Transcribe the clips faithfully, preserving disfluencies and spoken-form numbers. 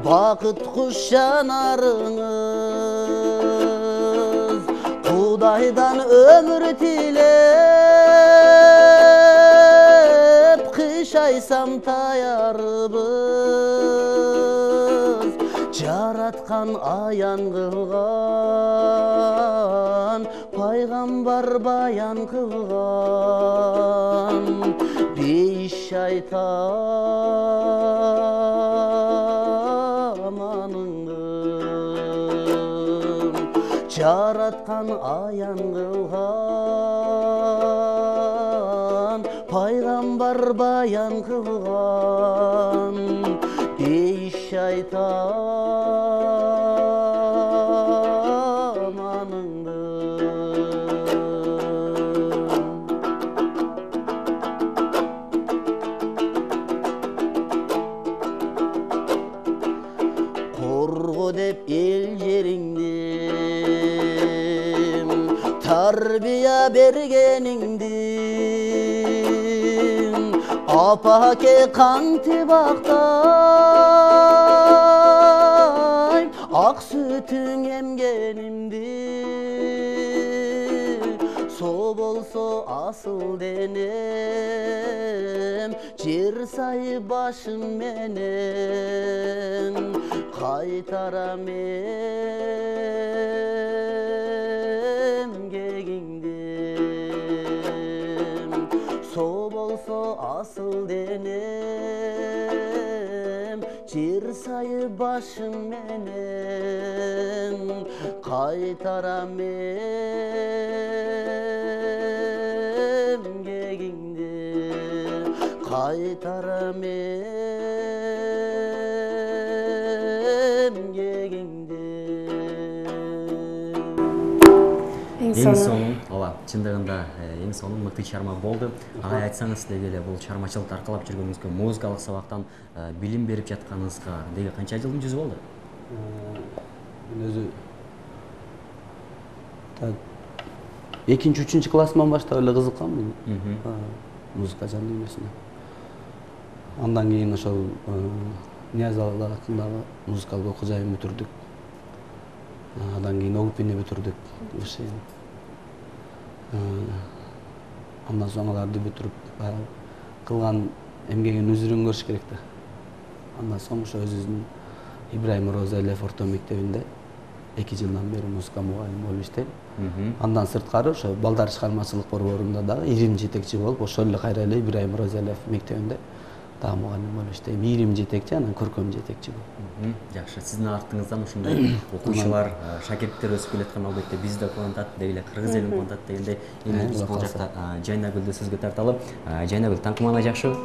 бакыт куш жанарыңыз Кудайдан өмүр тилеп кышайсам таярбыз жараткан аян кылган пайгамбар баян кылган бейиш айтам аныңдын жараткан аян кылган пайгамбар баян кылган бейиш айтам аныңдын корго деп эл жериңди тарбия бергениңди апаке кантип актайм ак сүтүң эмгенимди со болсо асыл денем жер сайып башым менен кайтарам эмгегиңди со болсо асыл денем жер сайып башым менен кайтарам эмгегиңди кайтарам эмгегиңди эң сонун ооба чындыгында эң сонун мыкты чыгарма болду. Агай айтсаңыз деги эле бул чыгармачылыкты аркалап жүргөнүңүзгө музыкалык сабактан билим берип жатканыңызга деги канча жылдын жүзү болду? Мен өзү так экинчи үчүнчү классыман баштап эле кызыкканмын музыка жан дүйнөсүнө. Андан кийин ошол Нияз атындагы музыкалык окуу жайын бүтүрдүк. Андан кийин Огупини бүтүрдүк. Андан соң аларды бүтүрүп кылган эмгегин өзүрүн көрүш керек да. Андан соң ошо өзүбүздүн Ибраим Розалиев орто мектебинде эки жылдан бери музыка мугалими болуп иштейм. Андан сырткары ошо балдар чыгармачылык борборунда дагы ирим жетекчи болуп, ошол эле кайра эле Ибраим Розалиев мектебинде дагы мугалим болуп иштейм. Ирим жетекчи, анан көркөм жетекчи болуп. Жакшы, сиздин артыңыздан ушундай окуучулар, шакирттер өсүп келаткан албетте бизди да кубантат, деги эле кыргыз элин кубантат дегендей. Эми биз бул жакта Жайнагүлдү сөзгө тарталы. Жайнагүл, таңкымаана жакшыбы?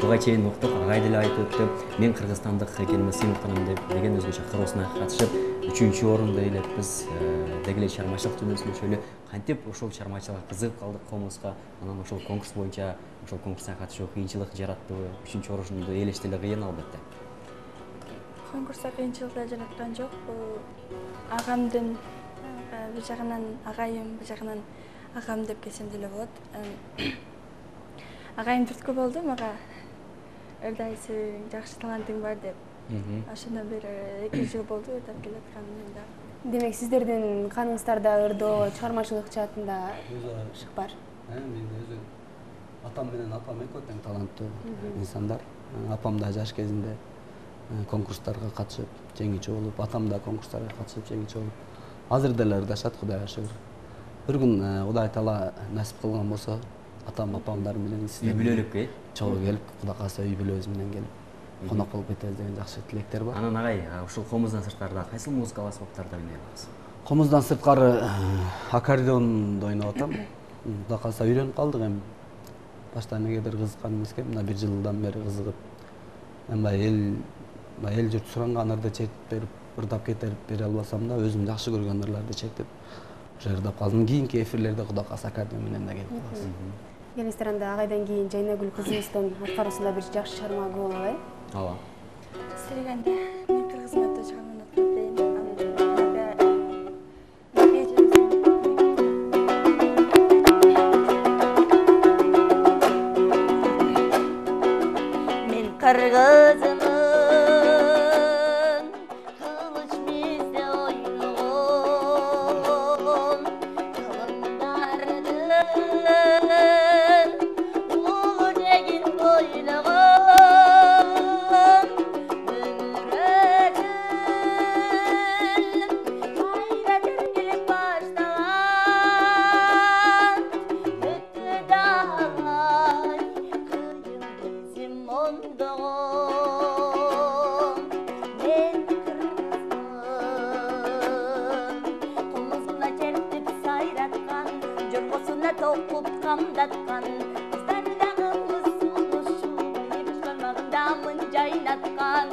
Буга чейин уктук, агай деле айтып өттү. Мен кыргызстандык экениме сыймыктанам деп деген өзгөчө кыроосуна катышып, үчүнчү орунда элеппиз. Деги эле чыгармачылык жөнүндө сүйлөшөлү. Кантип ошол чыгармачылыкка кызыгып калдык комузга? Анан ошол конкурс боюнча ошол конкурска катышуу кыйынчылык жараттыбы? Үчүнчү орунду ээлеш деле кыйын албетте. Конкурста кыйынчылык жараткан жок. Бул агамдын бир жагынан агайым, бир жагынан агам деп келсем деле болот. Агайым түрткү болду мага ырдайсың, жакшы талантың бар деп. Ошондон бери эки жыл болду ырдап келатканым мен дагы. Демек сиздердин каныңыздарда ырдоо, чыгармачылык жаатында шык бар. Мен өзү атам менен апам экөө тең таланттуу инсандар. Апам да жаш кезинде конкурстарга катышып жеңүүчү болуп, атам да конкурстарга катышып жеңүүчү болуп, азыр деле ырдашат, Кудайга шүгүр. Бир күн Кудай таала насип кылган болсо, атам апамдар менен үй бүлөлүккө чогуу келип, Кудай кааласа үй бүлөбүз менен келип конок болуп кетебиз деген жакшы тилектер бар. Анан агай, ушул комуздан сырткары кайсыл музыкалык аспаптарды ойной аласыз? Комуздан сырткары аккордеондо ойноп атам. Кудай кааласа үйрөнүп калдык эми. Башта эмнегедир кызыккан эмеске, мына бир жылдан бери кызыгып. Эми эл эл журт суранган ырды чертип берип, ырдап кетип бере албасам да, өзүм жакшы көргөн ырларды чертип, ошо ырдап калдым. Кийинки эфирлерде Кудай кааласа аккордеон менен да келип калабыз. Келиңиздер анда агайдан кийин Жайнагүл кызыбыздын аткаруусунда бир жакшы чыгарма болуп алалы. Ооба. Силегенде мен кыргыз матта чыгарманы окуп берейин. Мен кыргызмын, камдаган мен кыргызмын комузуна чертип сайраткан жоргосуна токуп камдаткан кыздар дагы мусулушубай башкармагында мын жайнаткан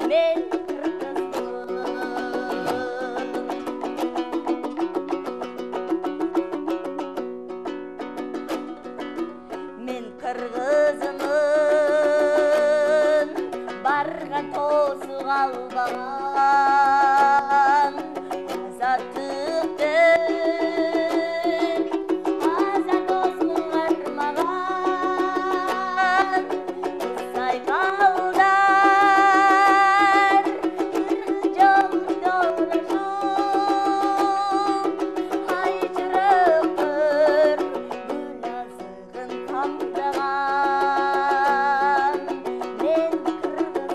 мен мен кыргызмын барган тоосу калбаган азаттыктын аза тоосун кармаган сайгалдар кыргыз жолунда урашып айчырыктыр гүл азыгын камдаган мен кыргызмын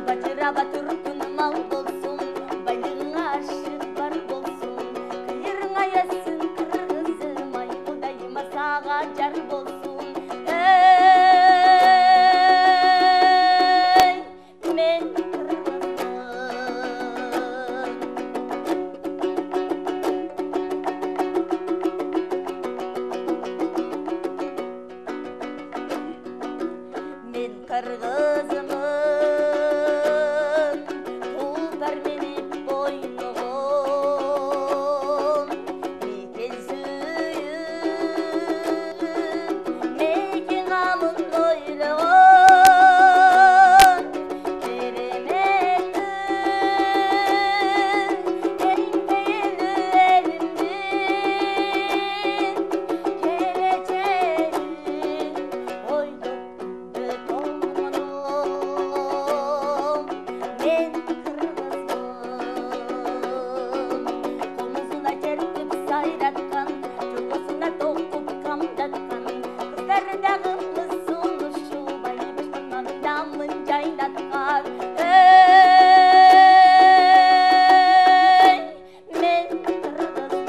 бачыраба түркүн мал болсун байлыгың ашып бар болсун кыйырыңа эссин кыргызым ай кудайыма сага жар болсун эй мен мен кыргызмын тулпар минип бойногон мекен сүйүп мекен амын ойлогон кереметтүү эң пейилдүү элимдин келечегин ойдоп күндө тоңдом мен кыргызмын комузуна чертип сайраткан жоргосуна токуп камдаткан кыздар дагы мусулушубай башкармагында мын жайнаткан эй мен кыргызмын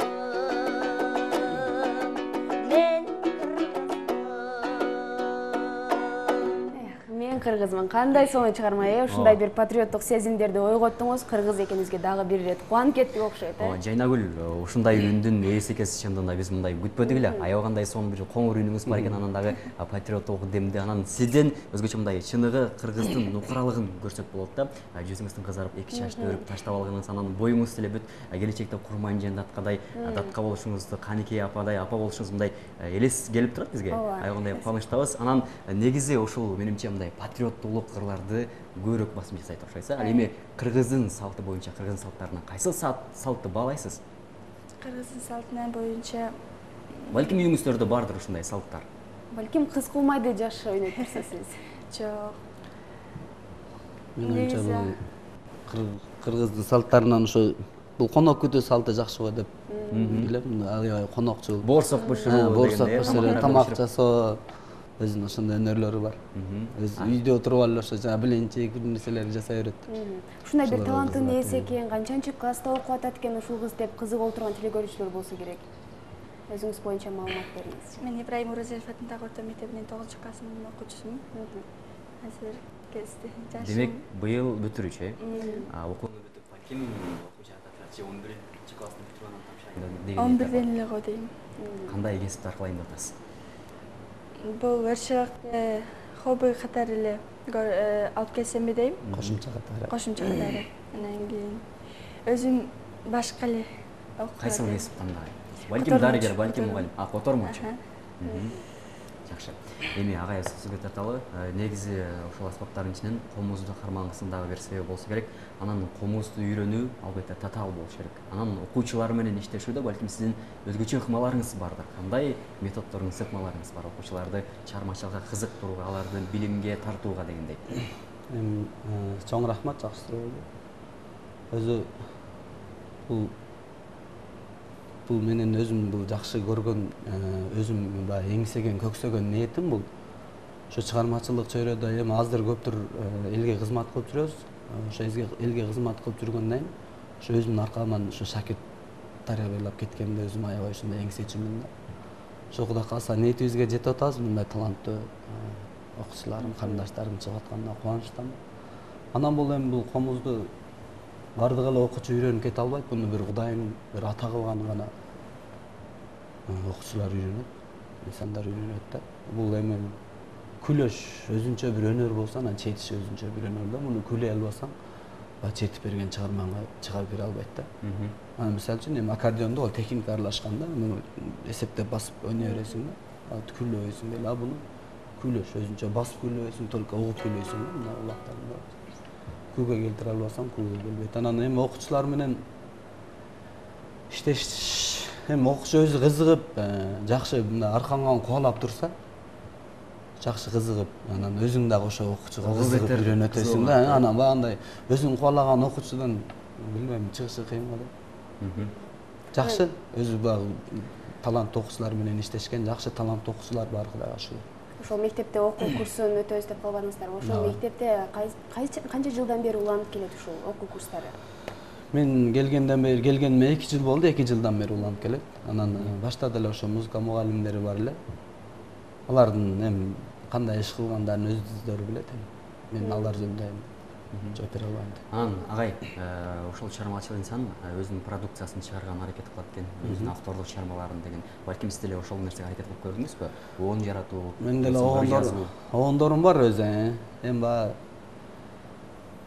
мен кыргызмын Мен кыргызмын. Кандай сонун чыгарма э? Ушундай бир патриоттук сезимдерди ойготтуңуз. Кыргыз экенибизге дагы бир ирет кубанып кеттик окшойт э? Ооба, Жайнагүл, ушундай үндүн ээси экенсиз, чындыгында биз мындай күтпөдүк эле. Аябагандай сонун бир коңур үнүңүз бар экен, анан дагы патриоттук демди, анан сизден өзгөчө мындай чыныгы кыргыздын нукуралыгын көрсөк болот да. Жүзүңүздүн кызарып, эки чачты өрүп таштап алганыңыз, анан боюңуз деле бүт келечекте курман жан даткадай, датка болушуңузду, Каникей ападай, апа болушуңуз мындай элес келип турат бизге. Аябагандай кубанычтабыз. Анан негизи ушул менимче мындай патриоттуулук кырларды көбүрөөк басым жасайт окшойсуз. Ал эми кыргыздын салты боюнча, кыргыздын салттарынан кайсы салтты баалайсыз? Кыргыздын салтына боюнча Балким үйүңүздөрдө бардыр ушундай салттар. Балким кыз кылмайды жаш ойнойт турсуз. жок. Мен оюмча Негизи- бул кыр- кыргыздын салттарынан ошо бул конок күтүү салты жакшы го деп билем. Аябай конокчул. Боорсок бышыруу, боорсок дегенде, бышыруу, тамактарды тамак бышырып. жасоо, өзүнүн ошондой өнөрлөрү бар. Өз үйдө отуруп алып ошо жана билинчек бир нерселерди жасай берет. Ушундай бир Ошолор таланттын кызыгат, ээси экен, канчанчы класста окуп атат экен ушул кыз деп кызыгып отурган телекөрүүчүлөр болсо керек. Өзүңүз боюнча маалымат бериңиз. Мен Ибраим Орозелов атындагы орто мектебинин тогузунчу классынын окуучусумун. Азыр келди. Жашым Демек, быйыл бүтүрүүчү э? Окууну бүтүп, балким окуучу атат, он биринчи класстын бүтүп анан тапшырайын деген. он бирден эле го дейм. Кандай кесипти аркылайын деп атасыз? Бул өршөктө хобби катары эле алып келсемби дейм. Кошумча катары. Кошумча катары. Анан кийин өзүм башка эле Кайсы кесип тандайсыз? Балким дарыгер, балким мугалим. А, котормочу. Жакшы. Эми агай сөзгө тарталы. Негизи ошол аспаптардын ичинен комузду кармагыңыздын дагы бир себеби болсо керек. Анан комузду үйрөнүү албетте татаал болуш керек. Анан окуучулар менен иштешүүдө балким сиздин өзгөчө ыкмаларыңыз бардыр. Кандай методдоруңуз, ыкмаларыңыз бар окуучуларды чыгармачылыкка кызыктырууга, аларды билимге тартууга дегендей? Эми чоң рахмат, жакшы суроо. Өзү бул бул менен өзүм бул жакшы көргөн, өзүм баягы эңсеген, көксөгөн ниетим бул. Ошо чыгармачылык чөйрөдө эми аздыр көптүр элге кызмат кылып жүрөбүз. Ошо элге кызмат кылып жүргөндөн кийин ошо өзүмдүн аркаман ошо шакирт тарбиялап кеткенде өзүм аябай ушундай эң сезчүмүн да. Ошол Кудай кааласа ниетибизге жетип атабыз, мындай таланттуу окуучуларым, карындаштарым чыгып атканына кубанычтамын. Анан бул эми бул комузду бардык эле окуучу үйрөнүп кете албайт, буну бир Кудайдын бир ата кылганы гана окуучулар үйрөнөт, инсандар үйрөнөт да. Бул эми күлөш өзүнчө бир өнөр болсо, анан четиш өзүнчө бир өнөр да. Муну күлөй албасаң, баягы четип берген чыгарманга чыга бере албайт да. Анан мисалы үчүн эми аккордеондо ал техника аралашканда, муну эсептеп басып ойной бересиң да. Ал күлөбөйсүң эле, а буну күлөш өзүнчө басып күлөбөйсүң, только угуп күлөйсүң да. Мына улактарында күлгө келтире албасаң, күлгө келбейт. Анан эми окуучулар менен иштеш, эми окуучу өзү кызыгып, жакшы мындай аркаңан кубалап турса, жакшы кызыгып, анан өзүң дагы ошо окуучуга кызыгып үйрөнөтөсүң да. Анан баягындай өзүң кубалаган окуучудан билбейм, чыгышы кыйын го да. Жакшы, өзү баягы таланттуу окуучулар менен иштешкен жакшы таланттуу окуучулар бар, Кудайга шүгүр. Ошол мектепте окуу курсун өтөбүз деп калбадыңыздарбы? Ошол мектепте канча жылдан бери уланып келет ушул окуу курстары? Мен келгенден бери, келгениме эки жыл болду, эки жылдан бери уланып келет. Анан баштада эле ошо музыка мугалимдери бар эле. Алардын эми кандай иш кылгандарын өздөрү билет эми. Мен алар жөнүндө жооп бере албайм. Анан агай, ошол чыгармачыл инсан өзүнүн продукциясын чыгарган аракет кылат экен, өзүнүн авторлук чыгармаларын деген. Балким сиз деле ошол нерсеге аракет кылып көрдүңүзбү? Оон жаратуу. Мен деле оондорум бар өзү. Эми баягы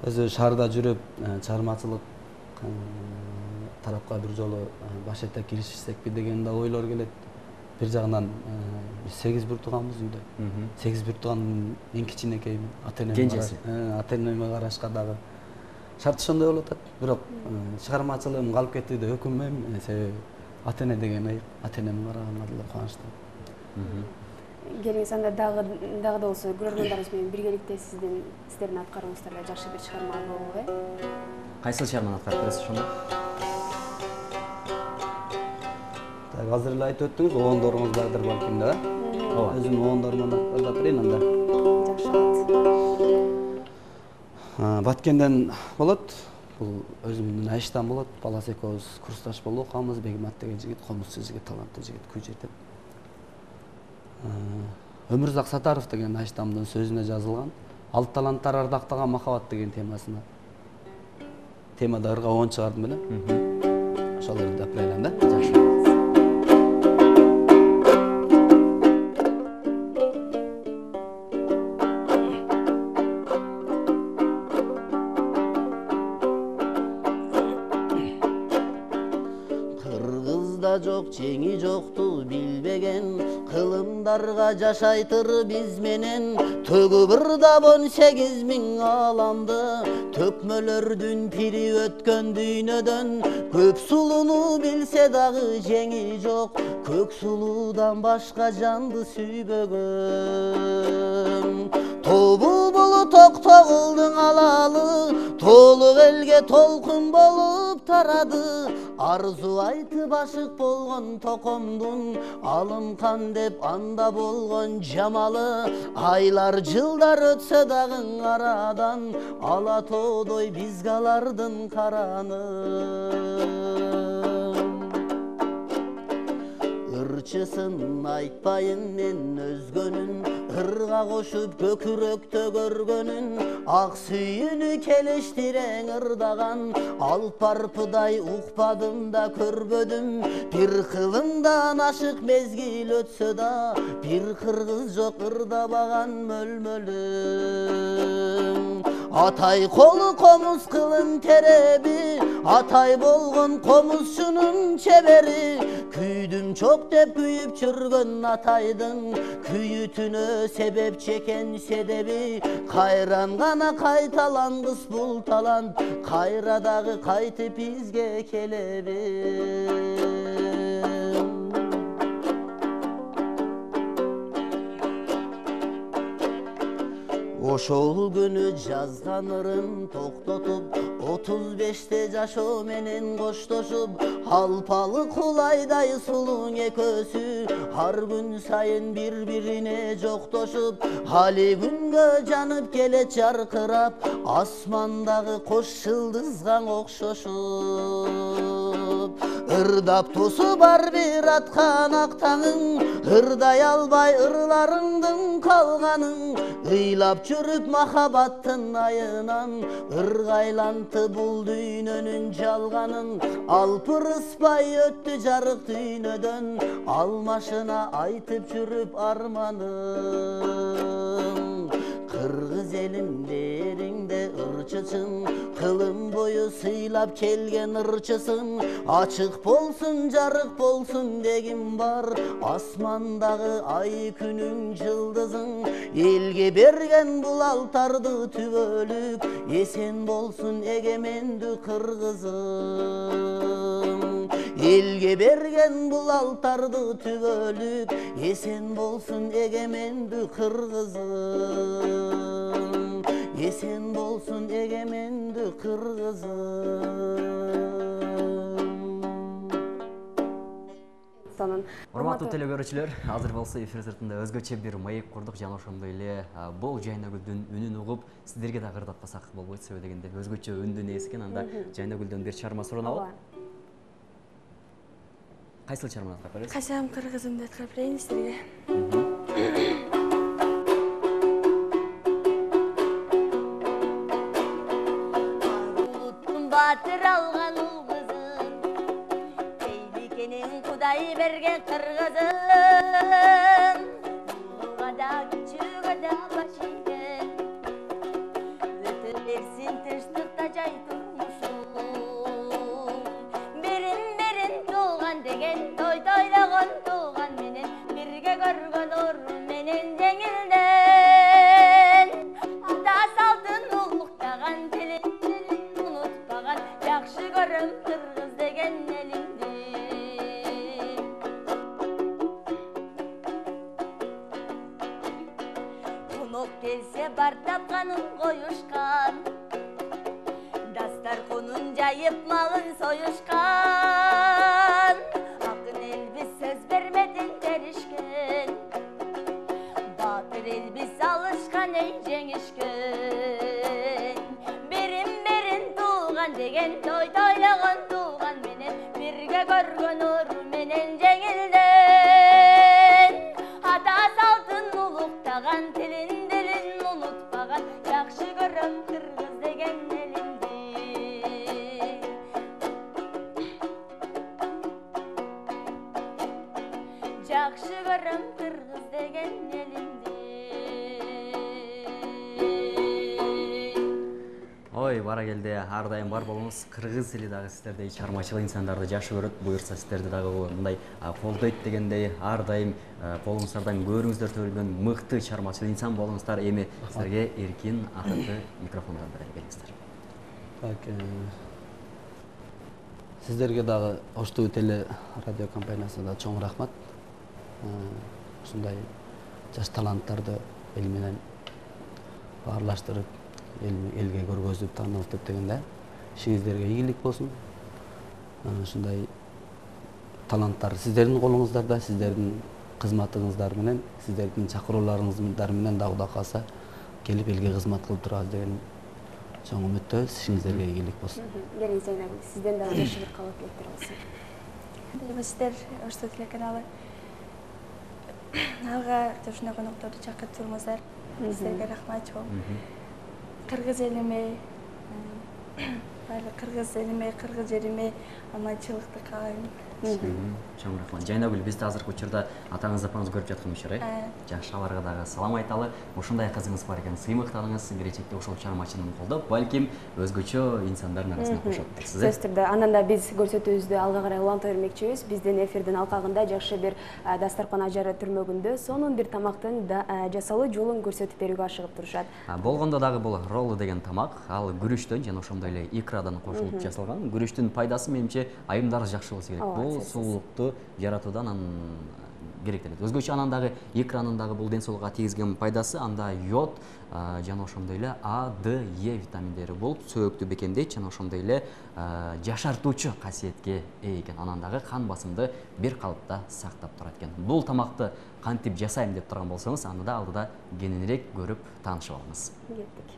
өзү шаарда жүрүп, чыгармачылык тарапка бир жолу баш этеп киришсекпи деген да ойлор келет. Бир жагынан биз сегиз бир тууганбыз үйдө. сегиз бир туугандын эң кичинекеймин. Ата-энеме карашка дагы шарт ошондой болуп атат. Бирок чыгармачылыгым калып кетти деп өкүнбөйм, себеби ата-эне деген айып, ата-энеме караганга деле кубанычтамын. Келиңиз, анда дагы дагы да болсо көрөрмандарыбыз менен биргеликте сиздин сиздердин аткарууңуздарда жакшы бир чыгарма болобу, э? Кайсыл чыгарманы аткарып бересиз ошондо? Азыр эле айтып өттүңүз, оондоруңуз бардыр балким да. Ооба. Өзүмдүн оондорумду аткарып берейин анда. Жакшы болот. Баткенден болот. Бул өзүмдүн айыштан болот. Балас экөөбүз курсташ болуп окуганбыз. Бегимат деген жигит, комузчу жигит, таланттуу жигит, күй жетет. Өмүрзак Сатаров деген айыштамдын сөзүнө жазылган Алып таланттар ардактаган махабат деген темасына. Темада ырга оон чыгардым эле. Ошолорду деп берелем да. Жакшы. Жок жеңи жокту билбеген кылымдарга жашайтыр биз менен төгү бырдап он сегиз миң ааламды төкмөлөрдүн пири өткөн дүйнөдөн көп сулууну билсе дагы жеңи жок көк сулуудан башка жанды сүйбөгөн тобу болуп токтогулдун алалы толук элге толкун болуп тарады арзу айтып ашык болгон токомдун алымкан деп анда болгон жамалы айлар жылдар өтсө дагы арадан ала тоодой биз калардын караны ырчысын айтпайын мен өзгөнүн ырга кошуп көкүрөктө көргөнүн ак сүйүүнү келиштирең ырдаган алп арпыдай укпадым да көрбөдүм бир кылымдан ашык мезгил өтсө да бир кыргыз жок ырдабаган мөлмөлүм атай колу комуз кылын тереби атай болгон комузчунун чебери күйдүм чок деп күйүп жүргөн атайдын күйүтүнө себеп чекен седеби кайран гана кайталангыс бул талант кайра дагы кайтып бизге келеби ошол күнү жазган ырын токтотуп отуз беште жашоо менен коштошуп алпалы кулайдай сулуң экөөсү ар күн сайын бир бирине жоктошуп али күнгө жанып келет жаркырап асмандагы кош жылдызга окшошуп ырдап тусу бар бир аткан ак таңың, ырдай албай ырларыңдын калганын, ыйлап жүрүп махабаттын айынан, ыргайланты бул дүйнөнүн жалганын, алпырыспай өттү жарык дүйнөдөн, алмашына айтып жүрүп арманын. Кыргыз элимдериңде ырчычың, кылым бою сыйлап келген ырчысың, ачык болсун жарык болсун дегим бар, асмандагы ай күнүң жылдызың, элге берген бул алтарды түбөлүк, эсен болсун эгемендүү кыргызым. Элге берген бул алтарды түбөлүк, эсен болсун эгемендүү кыргызым, эсен болсун эгемендүү кыргызым. Урматтуу телекөрүүчүлөр, азыр болсо эфир сыртында өзгөчө бир маек курдук жана ошондой эле бул Жайнагүлдүн үнүн угуп, сиздерге да ырдатпасак болбойт, себеби дегенде өзгөчө үндүн ээси экен. Анда Жайнагүлдөн бир чарма суранабы? Кайсыл чарманы аткарып бересиз? Качам кыргызымды аткарып берейин сизерге. Улуттун батыр алган ул кызын, Эйликенин Кудай берген кыргызын, улуга да кичүүгө да баш ийген, өтө берсин тынчтыкта жай турмушу. Берин берин тууган деген, той тойлогон тууган менен, бирге көргөн орун менен жеңилден, ата салтын улуктаган, тилин унутпаган, жакшы көрөм кыргыз деген элимди. Конок келсе бар тапканын коюшкан, дастарконун жайып малын союшкан, акын элбиз сөз бермедин беришкен, баатыр элбиз алышкан эй жеңишкен. Берин берин тууган деген, той тойлогон тууган менен, бирге көргөн орун менен жеңилден, ата салтын улуктаган, тилин дилин унутпаган, жакшы көрөм кыргыз деген элимди. Жакшы көрөм кыргыз деген элимди. Ой, бара келди, ар дайым бар болуңуз. Кыргыз эли дагы сиздердей чармачыл инсандарды жакшы көрөт, буюрса сиздерди дагы мындай колдойт дегендей, ар дайым колуңуздардан көрүңүздөр төрөлгөн мыкты чармачыл инсан болуңуздар. Эми сиздерге эркин акыркы микрофондорду бериңиздер. Так, сиздерге дагы Ош ТВ теле радио компаниясына чоң рахмат. Ушундай жаш таланттарды эл менен баарлаштырып, элге көргөзүп, таанылтып дегенде ишиңиздерге ийгилик болсун. Ушундай таланттар сиздердин колуңуздарда, сиздердин кызматыңыздар менен, сиздердин чакырууларыңыздар менен да Кудай кааласа келип элге кызмат кылып турабыз деген чоң үмүттөбүз. Ишиңиздерге ийгилик болсун. Келиңиз Жайнагүл, сизден дагы жакшы бир каалоо тилектер болсун. Сиздер Ош ТВ телеканалы алга ушундай конокторду чакырып турмуздар. Сиздерге рахмат чоң. Кыргыз элиме, баардык кыргыз элиме, кыргыз жериме аманчылыкты каалайм. Чоң рахмат. Жайнагүл, бизди азыркы учурда атаңыз апаңыз көрүп жатканмышыр, э? Жакшы, аларга дагы салам айталы. Ушундай кызыңыз бар экен, сыймыктаныңыз, келечекте ошол чармачылыгын колдоп, балким өзгөчө инсандардын арасына кошот дейсиз, э? Сөз түрдө. Андан да биз көрсөтүүбүздү алга карай уланта бермекчибиз. Биздин эфирдин алкагында жакшы бир дастаркан ажары түрмөгүндө сонун бир тамактын жасалуу жолун көрсөтүп берүүгө ашыгып турушат. Болгондо дагы бул роллу деген тамак, ал күрүчтөн жана ошондой эле икрадан кошулуп жасалган. Күрүчтүн пайдасы менимче айымдарыбыз жакшы болсо керек. Бул сулуулукту жаратуудан анын керектелет. Өзгөчө анан дагы икранын дагы бул ден соолукка тийгизген пайдасы, анда йод жана ошондой эле А, Д, Е витаминдери болуп, сөөктү бекемдейт жана ошондой эле жашартуучу касиетке ээ экен. Анан дагы кан басымды бир калыпта сактап турат экен. Бул тамакты кантип жасайм деп турган болсоңуз, аны да алдыда кененирээк көрүп таанышып алыңыз. Кеттик.